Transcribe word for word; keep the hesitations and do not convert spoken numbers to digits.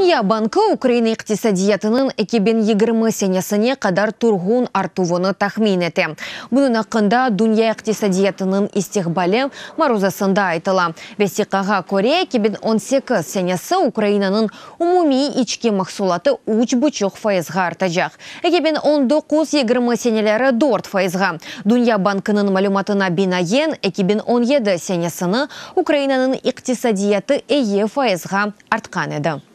Dünya bankı Ukraina iqtisadiyatınıñ eki biñ yigirmi senesine qadar turğun artuvını tahmin ete. Bunıñ aqqında Dünya iqtisadiyatınıñ istiqbali maruzasında aytıla. Vesiqağa köre, eki biñ on sekiz senesi Ukrainanıñ umumiy içki mahsulatı üç buçuq fayızğa artacaq. eki biñ on doquz yigirmi seneleri dört fayızğa. Dünya bankınıñ malümatına binaen, eki biñ on yedi senesini Ukrainanıñ iqtisadiyatı eki fayızğa artqan edi.